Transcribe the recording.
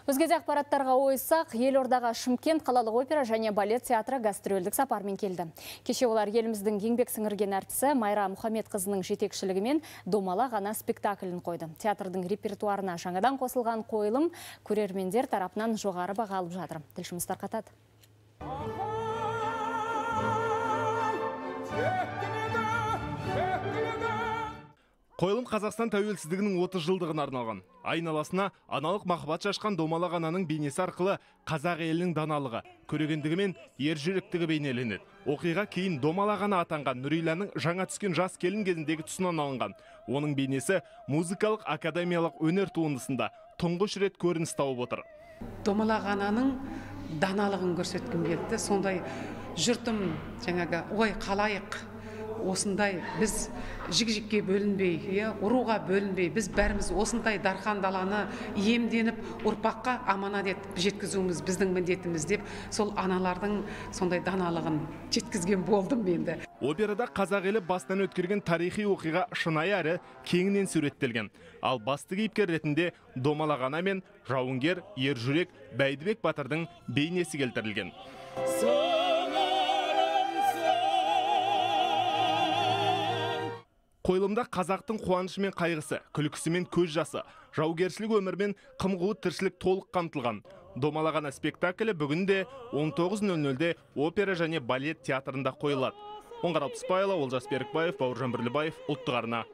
Өзгеде ақпараттарға ойсақ, Елордаға Шымкент қалалық опера және балет театры гастрольдік сапармен келді. Кеше олар еліміздің еңбек сіңірген әртісі Майра Мұхамедқызының жетекшілігімен «Домала ғана» спектаклін қойды. Театрдың репертуарына жаңадан қосылған қойылым көрермендер тарапынан жоғары баға алып жатыр. Тілшіміз тарқатады. Қойылым Қазақстан тәуелсіздігінің 30 жылдығына арналған. Айналасына аналық махаббат шашқан Домала ғананың бейнесі арқылы қазақ елінің даналығы, көрегендігі мен ержүректігі бейнеленеді. Оқиға кейін Домала ғана атанған Нұриланың жаңа түскен жас келін кезіндегі тұсынан алынған. Оның бейнесі музыкалық академиялық өнер туындысында тұңғыш рет көрініс тауып отыр. Домала ғананың даналығын көрсеткім келді. Сондай жұртым жаңағы ой қалайық, осындай біз жік-жікке бөлінбей, ұруға бөлінбей, біз бәріміз осындай дархан даланы иемденіп, ұрпаққа аманат етіп жеткізуіміз біздің міндетіміз деп, сол аналардың сондай даналығын жеткізген болдым менде. Операда қазақ елі бастан өткерген тарихи оқиға шынайы әрі кеңінен суреттелген. Ал басты кейіпкер ретінде Домала ғана мен жауынгер ержүрек Бәйдібек Батырдың бейнесі келтірілген. Қойылымда қазақтың қуанышы мен қайғысы, күлкісі мен көз жасы, жаугершілік өмірмен қым-қуыт тіршілік толық қамтылған. Домала ғана спектаклі бүгінде 19:00-де опера және балет театрында қойылады. Оңғар Алпысбайұлы, Олжас Берікбаев, Бауыржан Бірлібаев, ұлттық арна.